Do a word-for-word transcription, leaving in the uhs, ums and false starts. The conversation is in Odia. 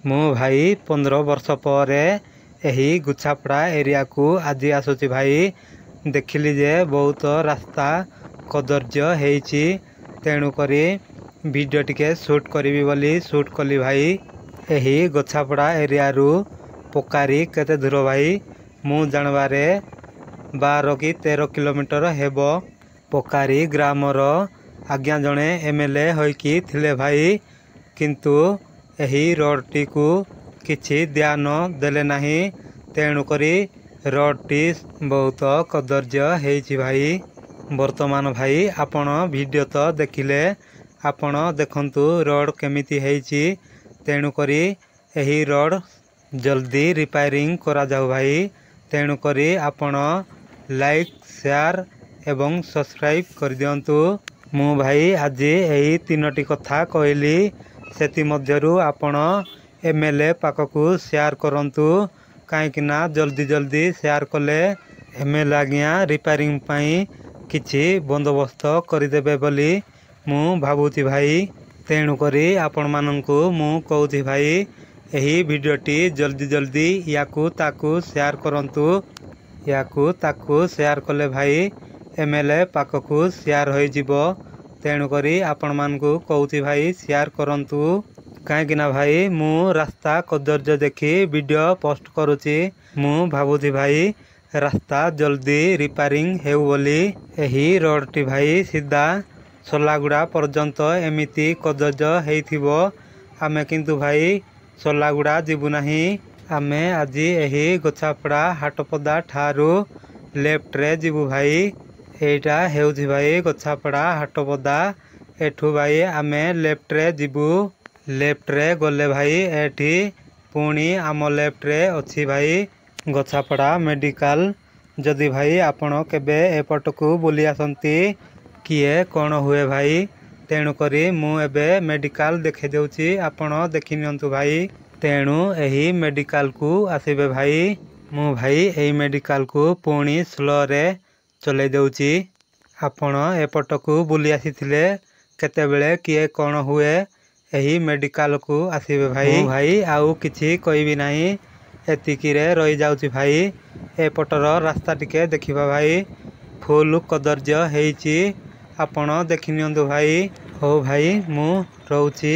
ମୁଁ ଭାଇ ପନ୍ଦର ବର୍ଷ ପରେ ଏହି ଗୁଛାପଡ଼ା ଏରିଆକୁ ଆଜି ଆସୁଛି ଭାଇ। ଦେଖିଲି ଯେ ବହୁତ ରାସ୍ତା କଦର୍ଯ୍ୟ ହେଇଛି, ତେଣୁକରି ଭିଡ଼ିଓ ଟିକେ ସୁଟ୍ କରିବି ବୋଲି ସୁଟ୍ କଲି ଭାଇ। ଏହି ଗୋଛାପଡ଼ା ଏରିଆରୁ ପକାରୀ କେତେ ଦୂର ଭାଇ? ମୁଁ ଜାଣିବାରେ ବାର କି ତେର କିଲୋମିଟର ହେବ। ପକାରୀ ଗ୍ରାମର ଆଜ୍ଞା ଜଣେ ଏମ୍ ଏଲ୍ ଏ ହୋଇକି ଥିଲେ ଭାଇ, କିନ୍ତୁ ଏହି ରୋଡ଼ଟିକୁ କିଛି ଧ୍ୟାନ ଦେଲେ ନାହିଁ, ତେଣୁକରି ରୋଡ଼ଟି ବହୁତ କଦର୍ଯ୍ୟ ହେଇଛି ଭାଇ। ବର୍ତ୍ତମାନ ଭାଇ ଆପଣ ଭିଡ଼ିଓ ତ ଦେଖିଲେ, ଆପଣ ଦେଖନ୍ତୁ ରୋଡ଼ କେମିତି ହେଇଛି। ତେଣୁକରି ଏହି ରୋଡ଼ ଜଲ୍ଦି ରିପେୟାରିଂ କରାଯାଉ ଭାଇ। ତେଣୁକରି ଆପଣ ଲାଇକ୍, ସେୟାର ଏବଂ ସବସ୍କ୍ରାଇବ୍ କରିଦିଅନ୍ତୁ। ମୁଁ ଭାଇ ଆଜି ଏହି ତିନୋଟି କଥା କହିଲି, ସେଥିମଧ୍ୟରୁ ଆପଣ ଏମ୍ ଏଲ୍ ଏ ପାଖକୁ ସେୟାର କରନ୍ତୁ, କାହିଁକିନା ଜଲ୍ଦି ଜଲ୍ଦି ସେୟାର କଲେ ଏମ୍ ଏଲ୍ ଏ ଆଜ୍ଞା ରିପେୟାରିଂ ପାଇଁ କିଛି ବନ୍ଦୋବସ୍ତ କରିଦେବେ ବୋଲି ମୁଁ ଭାବୁଛି ଭାଇ। ତେଣୁକରି ଆପଣମାନଙ୍କୁ ମୁଁ କହୁଛି ଭାଇ, ଏହି ଭିଡ଼ିଓଟି ଜଲ୍ଦି ଜଲ୍ଦି ୟାକୁ ତାକୁ ସେୟାର କରନ୍ତୁ। ୟାକୁ ତାକୁ ସେୟାର କଲେ ଭାଇ ଏମ୍ ଏଲ୍ ଏ ପାଖକୁ ସେୟାର ହୋଇଯିବ। ତେଣୁକରି ଆପଣମାନଙ୍କୁ କହୁଛି ଭାଇ, ସେୟାର କରନ୍ତୁ, କାହିଁକିନା ଭାଇ ମୁଁ ରାସ୍ତା କଦର୍ଯ୍ୟ ଦେଖି ଭିଡ଼ିଓ ପୋଷ୍ଟ କରୁଛି। ମୁଁ ଭାବୁଛି ଭାଇ ରାସ୍ତା ଜଲ୍ଦି ରିପେୟାରିଂ ହେଉ ବୋଲି। ଏହି ରୋଡ଼ଟି ଭାଇ ସିଧା ସଲାଗୁଡ଼ା ପର୍ଯ୍ୟନ୍ତ ଏମିତି କଦର୍ଯ୍ୟ ହେଇଥିବ। ଆମେ କିନ୍ତୁ ଭାଇ ସଲାଗୁଡ଼ା ଯିବୁ ନାହିଁ। ଆମେ ଆଜି ଏହି ଗୋଛାପଡ଼ା ହାଟପଦା ଠାରୁ ଲେଫ୍ଟରେ ଯିବୁ ଭାଇ। ଏଇଟା ହେଉଛି ଭାଇ ଗୋଛାପଡ଼ା ହାଟପଦା। ଏଠୁ ଭାଇ ଆମେ ଲେଫ୍ଟରେ ଯିବୁ। ଲେଫ୍ଟରେ ଗଲେ ଭାଇ ଏଠି ପୁଣି ଆମ ଲେଫ୍ଟରେ ଅଛି ଭାଇ ଗୋଛାପଡ଼ା ମେଡ଼ିକାଲ। ଯଦି ଭାଇ ଆପଣ କେବେ ଏପଟକୁ ବୁଲି ଆସନ୍ତି, କିଏ କ'ଣ ହୁଏ ଭାଇ, ତେଣୁକରି ମୁଁ ଏବେ ମେଡ଼ିକାଲ ଦେଖାଇ ଦେଉଛି, ଆପଣ ଦେଖି ନିଅନ୍ତୁ ଭାଇ। ତେଣୁ ଏହି ମେଡ଼ିକାଲକୁ ଆସିବେ ଭାଇ। ମୁଁ ଭାଇ ଏଇ ମେଡ଼ିକାଲକୁ ପୁଣି ସ୍ଲୋରେ ଚଲେଇ ଦେଉଛି। ଆପଣ ଏପଟକୁ ବୁଲି ଆସିଥିଲେ କେତେବେଳେ କିଏ କ'ଣ ହୁଏ, ଏହି ମେଡ଼ିକାଲକୁ ଆସିବେ ଭାଇ। ଭାଇ ଆଉ କିଛି କହିବି ନାହିଁ, ଏତିକିରେ ରହିଯାଉଛି ଭାଇ। ଏପଟର ରାସ୍ତା ଟିକେ ଦେଖିବା ଭାଇ, ଫୁଲ କଦର୍ଯ୍ୟ ହେଇଛି, ଆପଣ ଦେଖି ନିଅନ୍ତୁ ଭାଇ। ହଉ ଭାଇ, ମୁଁ ରହୁଛି।